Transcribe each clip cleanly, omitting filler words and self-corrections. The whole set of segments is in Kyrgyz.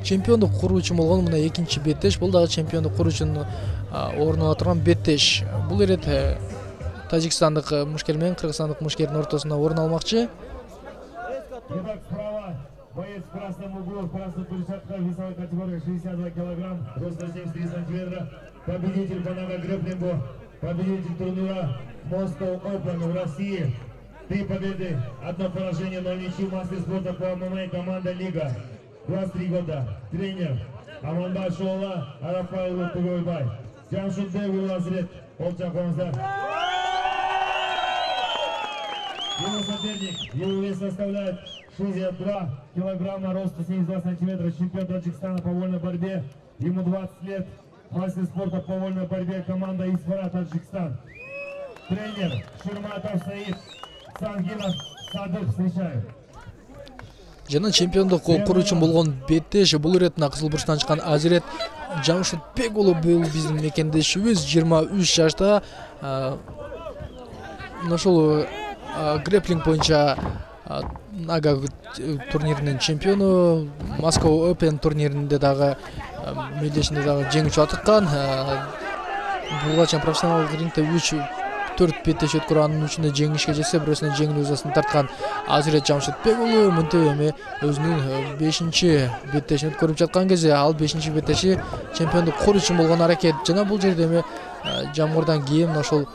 чемпиондук куруу үчүн болгон мына экинчи беттеш. Бул дагы чемпиондук куруу үчүн орун ала турган беттеш. Бул ирет тажикстандык мушкер менен кыргызстандык мушкердин ортосунда орун алмакчы. Боец в красном углу, в красной перчатке, весовой категории 62 килограмм, рост 73 сантиметра. Победитель по ногогреблингу, победитель турнира Moscow Open в России. 3 победы, 1 поражение, 0 ничьих. Мастер спорта по ММА, команда Лига. 23 года. Тренер Аманбай Шоула, Арафаилу Тугойбай. Джамшитбек Улазрет, Олчаконзар. Его соперник, его вес составляет 62 килограмма, рост 72 сантиметра, чемпион Таджикистана по вольной борьбе, ему 20 лет, мастер спорта по вольной борьбе, команда Исфара, Таджикистан. Тренер Шурматов Саид, Сангинов Садык, встречаю. Жана чемпиондук куруу үчүн болгон беттеш. Бул ирет Кызыл бурчтан чыккан Азирет Жамшитбек уулу бул биздин мекендешибиз, 23 жашта. Ошол греплинг боюнча Нага турниринин чемпиону, Moscow Open турниринде дагы мелдешинде дагы жеңүүчү атыккан. Буга чейин профессионалдык рингде 3-4 беттеш өткөрүп, анын үчүндө жеңишке жетсе, бирөөсүнө жеңил узасын тарткан Азирет Жамшитбек уулу мынтип эми өзүнүн 5-чи беттешин өткөрүп жаткан кезде, ал 5-чи беттеши чемпиондук куруу үчүн болгон аракет. Жана бул жерде эми жамгырдан кийин ошол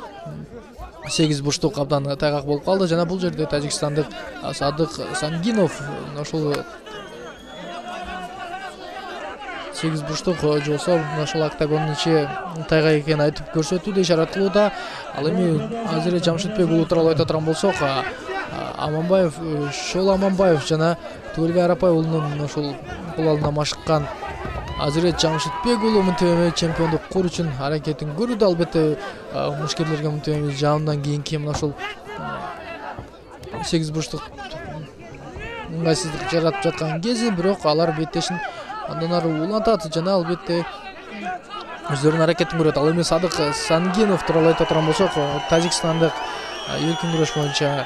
8 бурчтук абдан тайгак болуп калды. Жана бул жерде тажикстандык Садык Сангинов ошол 8 бурчтук жолсо ошол октагондун ичи тайгак экенин айтып көрсөтүүдө, ишарат кылууда. Ал эми Азирет Жамшитбек уулу тууралуу айта турган болсок, Аманбаев, Шоула Аманбаев жана Тугелбай Арапай уулунун ошол кол алдында машыккан Азирет Жамшитбек уулу мынтип эми чемпиондук куруу үчүн аракетин көрүүдө. Албетте мушкерлерге мынтип эми жаундан кийинки мына ошол 8 бурчтук ыңгайсыздык жаратып жаткан кези, бирок алар беттешин андан ары улантат жана албетте өздөрүнүн аракетин көрөт. Ал эми Садык Сангинов тууралуу айта турган болсок, тажикстандык эркин күрөш боюнча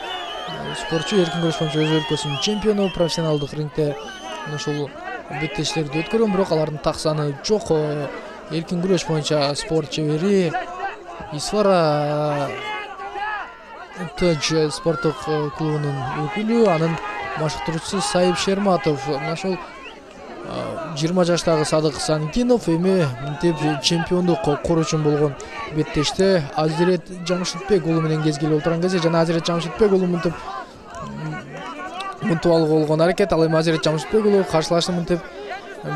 спортчу, эркин күрөш боюнча өз өлкөсүнүн чемпиону, профессионалдык рингде ошол беттештерди өткөргөн, бирок алардын так саны жок. Эркин күрөш боюнча спорт чебери Исфара Тадж спорттук клубунун өкүлү, анын машыктыруучусу Сайып Шерматов. Ошол 20 жаштагы Садык Сангинов эми мынтип чемпиондук куруу үчүн болгон беттеште Азирет Жамшитбек уулу менен кезгелип отурган кезде, жана Азирет Жамшитбек уулу мынтип алууга болгон аракет. Ал эми Азирет Жамшитбек уулу каршылашты мынтип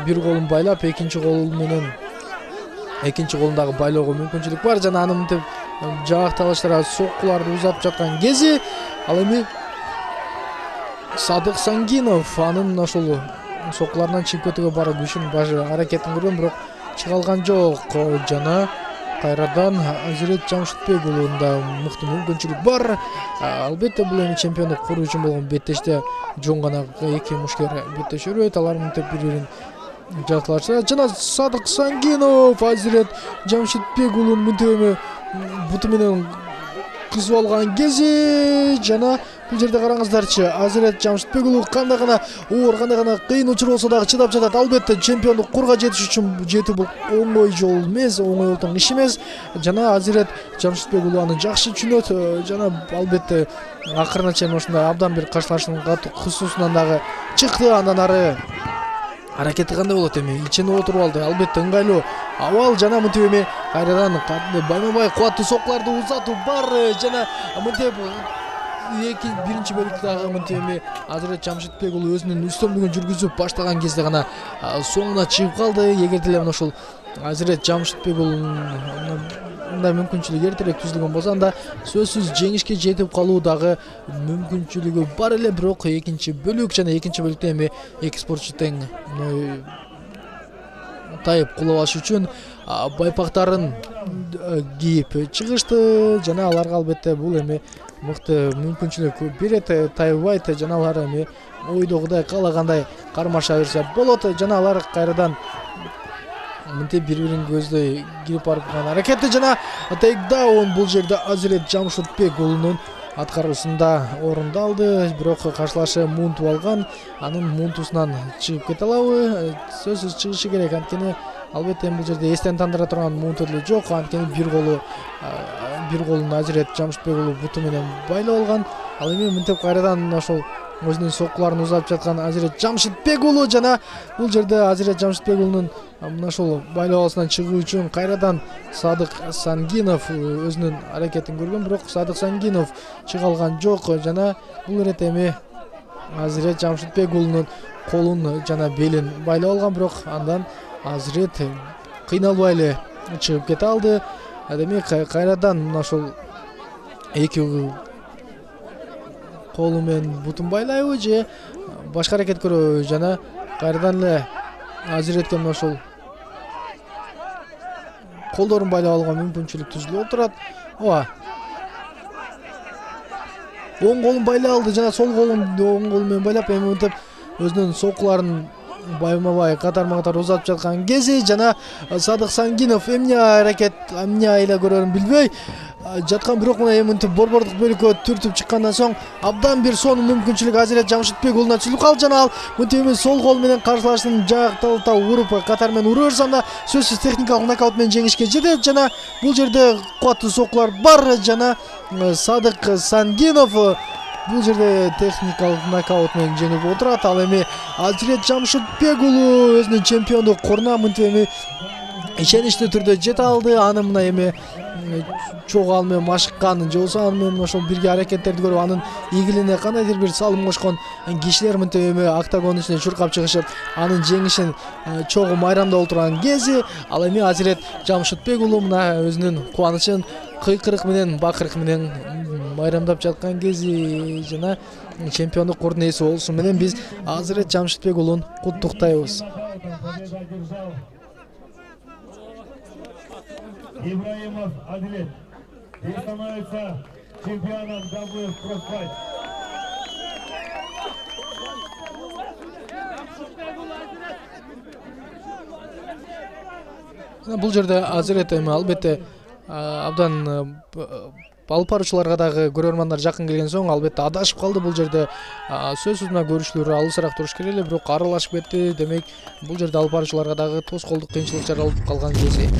бир колун байлап, экинчи колундагы байлоого мүмкүнчүлүк бар, жана аны мынтип жаакталыштыра соккуларды узатып жаткан кези, ал эми Садык Сангинов анын ошол соккуларынан чыгып кетүүгө бара күшүн аракетин көргөн, бирок чыга алган жок. Жана кайрадан Азирет Жамшитбек уулунда мыкты мүмкүнчүлүк бар. Албетте бул эми чемпиондук куруу үчүн болгон беттеште жон гана эки мушкер беттеш өрөйт, алар мынтип бири-бирин жакталашат. Жана Садык Сангинов Азирет Жамшитбек уулун мынтип эми буту менен кысып алган кези, жана бул жерде караңыздарчы, Азирет Жамшитбек уулу кандай гана оор, кандай гана кыйын учур болсо дагы чыдап жатат. Албетте чемпиондук курууга жетиш үчүн жетүү бул оңой жол эмес, оңой олтон иш эмес. Жана Азирет Жамшитбек уулу аны жакшы түшүнөт. Жана албетте акырына чейин ушундай абдан бир каршылаштын кысуусунан дагы чыкты. Андан ары аракети кандай болот эми? Ичине отуруп алды. Албетте ыңгайлуу абал, жана мынтип эми кайрадан байма-бай кубаттуу соккуларды узатуу бар. Жана мынтип биринчи бөлүктөгү мынтип эми Азирет Жамшитбек уулу өзүнүн үстөмдүгүн жүргүзүп баштаган кезде гана соңуна чыгып калды. Эгерде эле ошол Азирет Жамшитбек уулунун мындай мүмкүнчүлүк эртерээк түзүлгөн болсо, анда сөзсүз жеңишке жетип калуу дагы мүмкүнчүлүгү бар эле. Бирок экинчи бөлүк жана экинчи бөлүктө эми эки спортчу тең тайып кулабаш үчүн байпактарын кийип чыгышты. Жана аларга албетте бул эми мыкты мүмкүнчүлүк берет, тайбайт. Жана алар эми ойдогудай каалагандай кармаша берсе болот. Жана алар кайрадан мынтип бири-бирин көздөй кирип барып аракети, жана тейкдаун бул жерде Азирет Жамшитбек уулунун аткаруусунда орунду алды, бирок каршылашы мунтуп алган. Анын мунтусунан чыгып кете алабы? Сөзсүз чыгышы керек. Анткени албетте бул жерде эстен тандыра турган мунту деле жок. Анткени бир колун Азирет Жамшитбек уулу буту менен байлап алган. Ал эми мынтип кайрадан ошол өзүнүн соккуларын узатып жаткан Азирет Жамшитбек уулу жана бул жерде Азирет Жамшитбек уулунун мына ошол байлоосунан чыгуу үчүн кайрадан Садык Сангинов өзүнүн аракетин көргөн, бирок Садык Сангинов чыга алган жок жана бул ирет эми Азирет Жамшитбек уулунун колун жана белин байлап алган, бирок андан Азирет кыйналбай эле чыгып кете алды. Демек кайрадан мына ошол эки колу менен бутун байлайбы же башка аракет көрөбү жана кайрадан эле Азиретке мына ошол колдорун байлап алууга мүмкүнчүлүк түзүлүп отурат. Ооба. Оң колун байлап алды жана сол колун оң колу менен байлап эми мынтип өзүнүн соккуларын байма-бай катар узатып жаткан кези жана Садык Сангинов эмне аракет, эмне айла көрөрүн билбей жаткан, бирок мына эми мынтип борбордук бөлүккө түртүп чыккандан соң абдан бир сонун мүмкүнчүлүк Азирет Жамшитбек уулуна түзүлүп калды жана ал мынтип эми сол кол менен каршылашын жакталта уруп катар менен ура берсе анда сөзсүз техникалык нокаут менен жеңишке жетет жана бул жерде кубаттуу соккулар бар жана Садык Сангинов бул жерде техникалык нокаут менен жеңип отурат. Ал эми Азирет Жамшитбек уулу өзүнүн чемпиондук коруна мынтип эми ишеничтүү түрдө жете алды. Аны мына эми чогуу ал менен машыккан же болбосо аны менен ошол бирге аракеттерди көрүп анын ийгилигине кандайдыр бир салым кошкон кишилер мынтип эми октагондун ичине чуркап чыгышып анын жеңишин чогуу майрамдап отурган кези ал эми Азирет Жамшитбек уулу мына өзүнүн кубанычын кыйкырык менен бакырык менен майрамдап жаткан кези жана чемпиондук кордун ээси болуусу менен биз Азирет Жамшитбек уулун куттуктайбыз. Ибраимов Адилет становится чемпионом WF Crossfight. Бул жерде Азирет эми албетте абдан алып баруучуларга дагы көрөрмандар жакын келген соң албетте адашып калды. Бул жерде сөзсүз мына көрүшүлөр алысыраак туруш керек эле, бирок аралашып кетти. Демек бул жерде алып баруучуларга дагы тоскоолдук кыйынчылык жаралып калган кези.